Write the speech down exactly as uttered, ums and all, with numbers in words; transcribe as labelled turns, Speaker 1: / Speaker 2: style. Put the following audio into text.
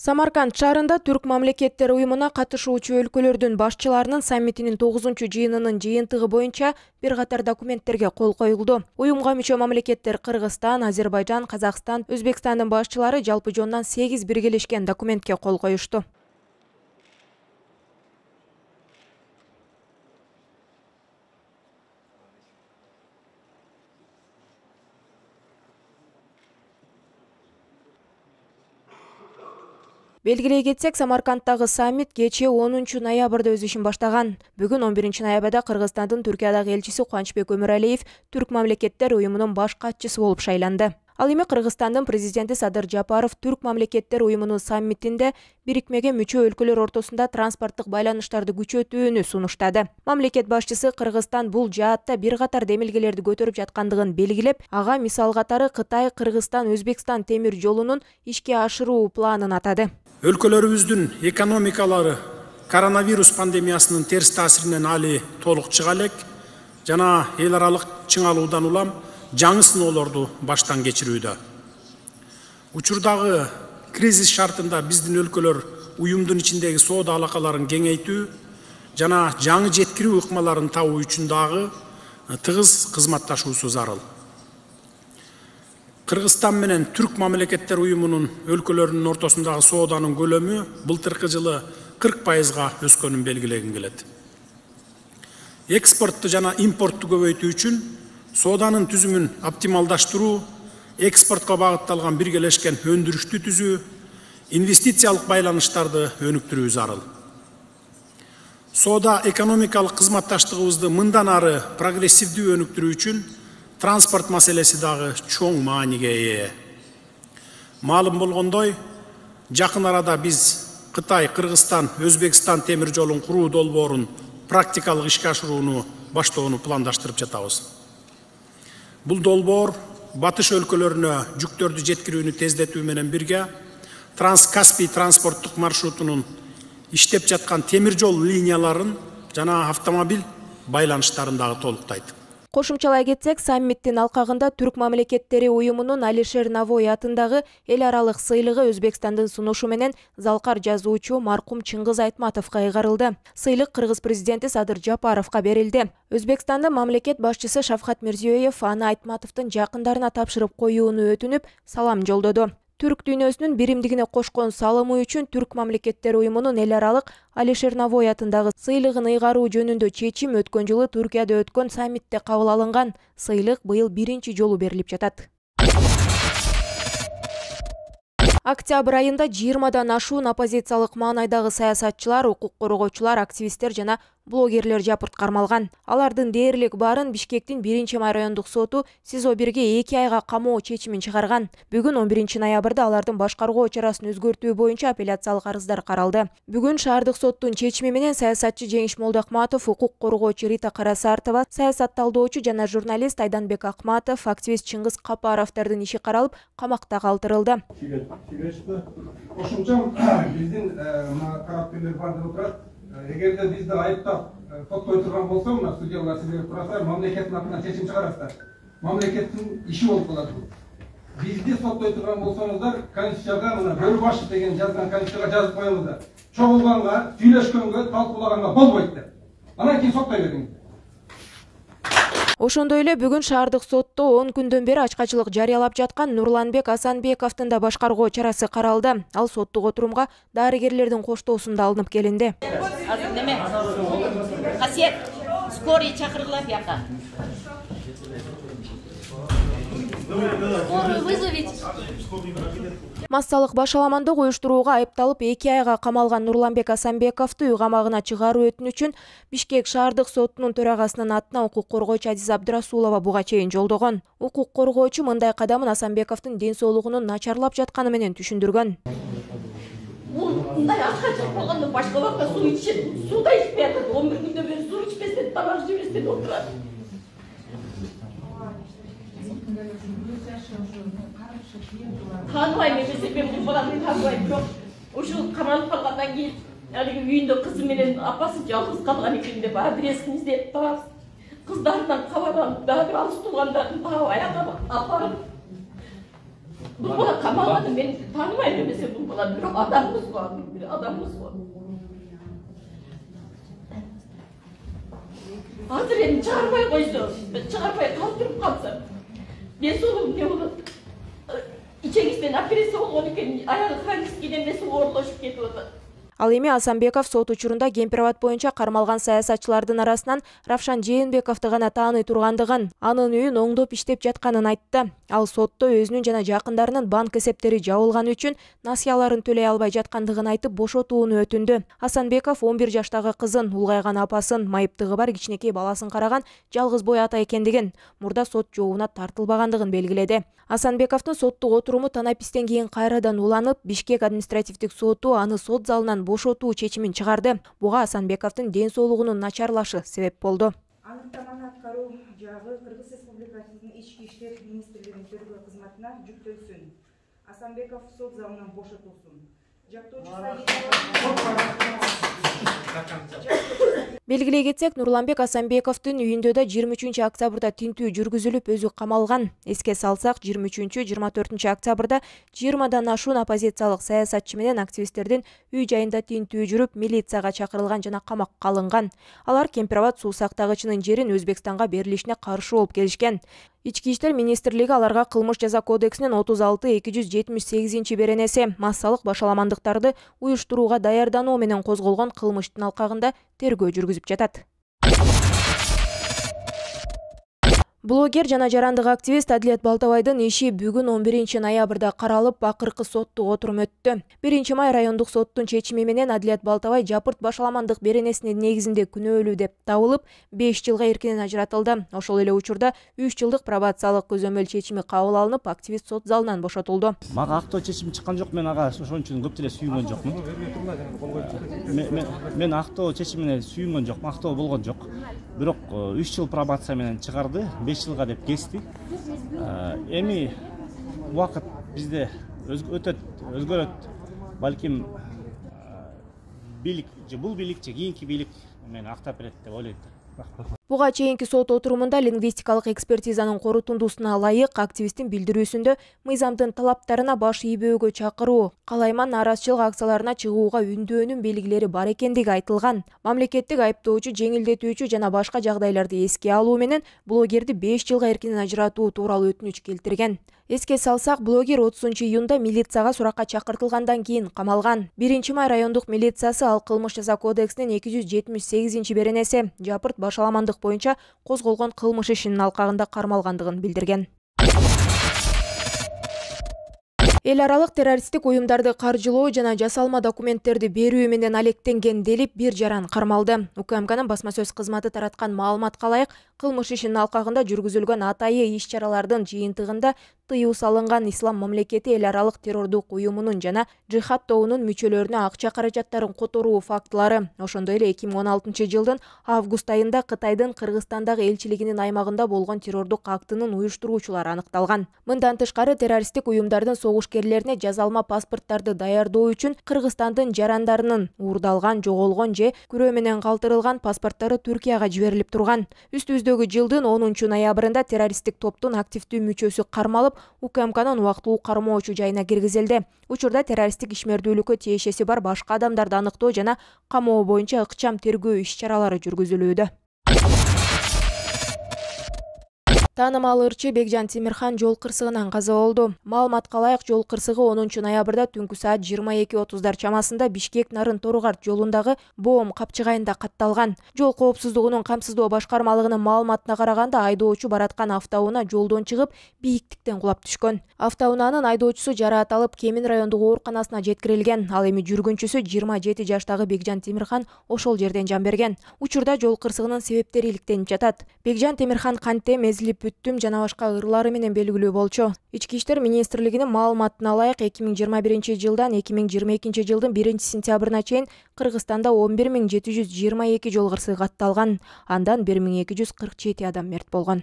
Speaker 1: Самарканд шаарында Түрк мамлекеттер уюмуна катышуучу өлкөлөрдүн башчыларынын саммитинин тогузунчу жыйынынын жыйынтыгы боюнча бир катар документтерге кол коюлду. Уюмга мүчө мамлекеттер Кыргызстан, Азербайжан, Казакстан, Өзбекстандын башчылары жалпы жонунан сегиз биргелешкен документке кол коюшту. Белгилей кетсек, Самаркандтагы саммит кечээ онунчу ноябрда өз ишин баштаган. Бүгүн он биринчи ноябрда Кыргызстандын Түркиядагы элчиси Кубанычбек Өмүралиев Түрк мамлекеттер уюмунун баш катчысы болуп шайланды. Ал эми Кыргызстандын президенти Садыр Жапаров Түрк мамлекеттер уюмунун саммитинде бирикмеге мүчө өлкөлөр ортосунда транспорттук байланыштарды күчөтүүнү сунуштады. Мамлекет башчысы Кыргызстан бул жаатта бир катар демилгелерди көтөрүп жаткандыгын белгилеп, ага мисал катары Кытай, Кыргызстан, Өзбекстан темир жолунун ишке ашыруу планын атады.
Speaker 2: Өлкөлөрүбүздүн экономикалары коронавирус пандемиясынын терс таасиринен али толук чыга элек жана эл аралык чыңалуудан улам жаңы сыноолорду баштан кечирүүдө. Учурдагы кризис шартында биздин өлкөлөр уюмдун ичиндеги соода алакаларын кеңейтүү жана жаңы жеткирүү ыкмаларын табуу үчүн дагы тыгыз кызматташуусу зарыл. Кыргызстан менен Түрк мамлекеттер уюмунун өлкөлөрүнүн ортосундагы сооданын көлөмү былтыркы жылы кырк пайызга өскөнүн белгилегим келет. Экспортту жана импортту көбөйтүү үчүн сооданын түзүмүн оптималдаштыруу, экспортко багытталган биргелешкен өндүрүштү түзүү, инвестициялык байланыштарды өнүктүрүү зарыл. Соода экономикалык кызматташтыгыбызды мындан ары прогрессивдүү өнүктүрүү үчүн транспорт маселеси дагы чоң мааниге ээ. Маалым болгондой, жакын арада биз Кытай, Кыргызстан, Өзбекстан темир жолун куруу долбоорун практикалык ишке ашырууну баштоону пландаштырып жатабыз. Бул долбоор батыш өлкөлөрүнө жүктөрдү жеткирүүнү тездетүү менен бирге Транскаспий транспорттук маршрутунун иштеп жаткан темир жол линияларын жана автомобиль байланыштарын дагы толуктайт.
Speaker 1: Кошумчалай кетсек, саммиттин алкагында Түрк мамлекеттери уюмунун Алишер Навой атындагы эл аралык сыйлыгы Өзбекстандын сунушу менен залкар жазуучу маркум Чыңгыз Айтматовго ыйгарылды. Сыйлык кыргыз президенти Садыр Жапаровго берилди. Өзбекстандын мамлекет башчысы Шавкат Мирзиёев аны Айтматовдун жакындарына тапшырып коюуну өтүнүп, салам жолдоду. Түрк дүйнөсүнүн биримдигине кошкон салымы үчүн Түрк мамлекеттер уюмунун эл аралык Алишер Навой атындагы сыйлыгын ыйгаруу жөнүндө чечим өткөн жылы Түркияда өткөн саммитте кабыл алынган. Сыйлык быйыл биринчи жолу берилип жатат. Октябрь айында жыйырмадан ашуун оппозициялык маанайдагы саясатчылар, укук коргоочулар, активисттер жана блогерлер жапырт кармалган. Алардын дээрлик баарын Бишкектин биринчи май райондук соту СИЗО бирге эки айга камоо чечимин чыгарган. Бүгүн он биринчи ноябрда алардын башкаруу чарасын өзгөртүү боюнча апелляциялык арыздар каралды. Бүгүн шаардык соттун чечими менен саясатчы Жеңиш Молдоакматов, укук коргоочу Рита Карасартова, саясат талдоочу жана журналист Айданбек Акматов, активист Чыңгыз Капаровдордун иши каралып, камакта калтырылды.
Speaker 3: Кошумчам биздин тараптуулар бардыгы турат. Эгерде бизди айыптап соттой турган болсо, мына судьялар сиздерге турасыздар, мамлекеттин атынан чечим чыгарасыздар. Мамлекеттин иши болуп калат бул. Бизди соттой турган болсоңуздар, Конституцияга мына Бөрүбашев деген жазган Конституцияга жазып коюңуздар. Чогулганга, сүйлөшкөнгө, талкуулаганга болбойт деп. Анан кийин соттой бериңиз.
Speaker 1: Ошондой эле бүгүн шаардык сотто он күндөн бери ачкачылык жарыялап жаткан Нурланбек Асанбековдун да башкаруу чарасы каралды. Ал соттук отурумга дарыгерлердин коштоосунда алынып келинди.
Speaker 4: Азыр неме? Касиет, скорый чакыргыла бияка.
Speaker 1: Массалык башаламандык уюштурууга айыпталып эки айга камалган Нурланбек Асанбековду үй камагына чыгаруу өтүнүчүн Бишкек шаардык сотунун төрагасынын атына укук коргоочу Азиз Абдрасулова буга чейин жолдогон. Укук коргоочу мындай кадамын Асанбековдун ден соолугунун начарлап жатканы менен түшүндүргөн.
Speaker 4: Бул мындай акча болгондо башка убакта суу ичет, сууда ичпей атат. он бир күндөн бери суу ичпестен, тамак жебестен отурат. Таныбайм эмесе, мен бул баланы таныбайм жок. Ушул камалып калгандан кийин алиги үйүндө кызы менен апасы жалгыз калган экен деп адресин издеп таап, кыздарынан кабар алып, дагы алыс туугандарын таап, аяка апарып Бул бала камалган, мен тааныбайм эмесе бул бала, бирок адамбыз го, бир адамбыз го. Азыр эми чыгарбай койсо, чыгарбай калтырып калса, мен сол эмне болот? Ичегизден операция болгон экен, аягы хронический эмеси оорлошуп кетип атат.
Speaker 1: Ал эми Асанбеков сот учурунда Кемпирабад боюнча кармалган саясатчылардын арасынан Равшан Жээнбековду гана тааный тургандыгын, анын үйүн оңдоп иштеп жатканын айтты. Ал сотто өзүнүн жана жакындарынын банк эсептери жабылганы үчүн насыяларын төлөй албай жаткандыгын айтып бошотууну өтүндү. Асанбеков он бир жаштагы кызын, улгайган апасын, майыптыгы бар кичинекей баласын караган жалгыз бой ата экендигин, мурда сот жообуна тартылбагандыгын белгиледи. Асанбековдун соттук отуруму танапистен кийин кайрадан уланып, Бишкек административдик соту аны сот залынан бошотуу чечимин чыгарды. Буга Асанбековдун ден соолугунун начарлашы себеп болду.
Speaker 5: Аныктаманы аткаруу жагы Кыргыз Республикасынын Ички иштер министрлигинин тергөө кызматына жүктөлсүн. Асанбеков сот залынан бошотулсун.
Speaker 1: Белгилей кетсек, Нурланбек Асанбековдун үйүндө да жыйырма үчүнчү октябрда тинтүү жүргүзүлүп, өзү камалган. Эске салсак, жыйырма үчүнчү жыйырма төртүнчү октябрда жыйырмадан ашуун оппозициялык саясатчы менен активисттердин үй жайында тинтүү жүрүп, милицияга чакырылган жана камакка алынган. Алар Кемпирабад суу сактагычынын жерин Өзбекстанга берилишине каршы болуп келишкен. Ички иштер министрлиги аларга кылмыш жаза кодексинин отуз алты эки жүз жетимиш сегизинчи беренеси массалык башаламандыктарды уюштурууга даярдануу менен козголгон кылмыштын алкагында тергөө жүргүзүп жатат. Блогер жана жарандык активист Адилет Балтабайдын иши бүгүн он биринчи ноябрда каралып, акыркы соттук отурум өттү. биринчи май райондук соттун чечими менен Адилет Балтабай жапырт башаламандык беренесинин негизинде күнөөлүү деп табылып, беш жылга эркинен ажыратылды. Ошол эле учурда үч жылдык пробациялык көзөмөл чечими кабыл алынып, активист сот залынан бошотулду.
Speaker 6: Мага актоо чечим чыккан жок, мен ага ошон үчүн көп деле сүйүнгөн жокмун. Мен мен актоо чечимине сүйүнгөн жокмун, актоо болгон жок. Бирок үч жыл пробация менен чыгарды, беш жылга деп кести. Эми убакыт бизде өтөт, өзгөрөт. Балким бийлик же бул бийлик же кийинки бийлик мени актап берет деп ойлойт.
Speaker 1: Буга чейинки сот отурумунда лингвистикалык экспертизанын корутундусуна ылайык активисттин билдирүүсүндө мыйзамдын талаптарына баш ийбөөгө чакыруу, калайман наразычылык акцияларына чыгууга үндөөнүн белгилери бар экендиги айтылган. Мамлекеттик айыптоочу, жеңилдетүүчү жана башка жагдайларды эске алуу менен блогерди беш жылга эркинен ажыратуу тууралуу өтүнүч келтирген. Эске салсак, блогер отузунчу июнда милицияга суракка чакыртылгандан кийин камалган. биринчи май райондук милициясы ал кылмыш жаза кодексинин эки жүз жетимиш сегизинчи беренеси жапырт башаламандык боюнча козголгон кылмыш ишинин алкагында кармалгандыгын билдирген. Эл аралык террористтик уюмдарды каржылоо жана жасалма документтерди берүү менен алектенген делип бир жаран кармалды. УКМКнын басма сөз кызматы тараткан маалыматка ылайык, кылмыш ишинин алкагында жүргүзүлгөн атайы иш-чаралардын жыйынтыгында тыюу салынган Ислам мамлекети эл аралык террордук уюмунун жана Джихад тобунун мүчөлөрүнө акча каражаттарын которуу фактылары, ошондой эле эки миң он алтынчы жылдын август айында Кытайдын Кыргызстандагы элчилигинин аймагында болгон террордук актынын уюштуруучулары аныкталган. Мындан тышкары террористтик уюмдардын согушкерлерине жазалма паспорттарды даярдоо үчүн Кыргызстандын жарандарынын уурдалган, жоголгон же күрөө менен калтырылган паспорттары Түркияга жиберилип турган. Үстүбүздөгү жылдын онунчу ноябрында террористтик топтун активдүү мүчөсү кармалып, УКМКнын убактылуу кармоочу жайына киргизилди. Учурда террористтик ишмердүүлүккө тиешеси бар башка адамдарды аныктоо жана камоо боюнча ыкчам тергөө иш-чаралары жүргүзүлүүдө. Таанымал ырчы Бекжан Темирхан жол кырсыгынан каза болду. Маалыматка ылайык, жол кырсыгы онунчу ноябрда түнкү саат жыйырма эки отуздар чамасында Бишкек Нарын Торугарт жолундагы Боом капчыгайында катталган. Жол коопсуздугунун камсыздоо башкармалыгынын маалыматына караганда, айдоочу бараткан автоунаа жолдон чыгып, бийиктиктен кулап түшкөн. Автоунаанын айдоочусу жараат алып, Кемин райондук ооруканасына жеткирилген. Ал эми жүргүнчүсү жыйырма жети жаштагы Бекжан Темирхан ошол жерден жан берген. Учурда жол кырсыгынын себептери иликтенип жатат. Бекжан Темирхан канте, мезилип бүттүм жана башка ырлары менен белгилүү болчу. Ички иштер министрлигинин маалыматына ылайык, эки миң жыйырма биринчи жылдан эки миң жыйырма экинчи жылдын биринчи сентябрына чейин Кыргызстанда он бир миң жети жүз жыйырма эки жол кырсыгы катталган. Андан бир миң эки жүз кырк жети адам мерт болгон.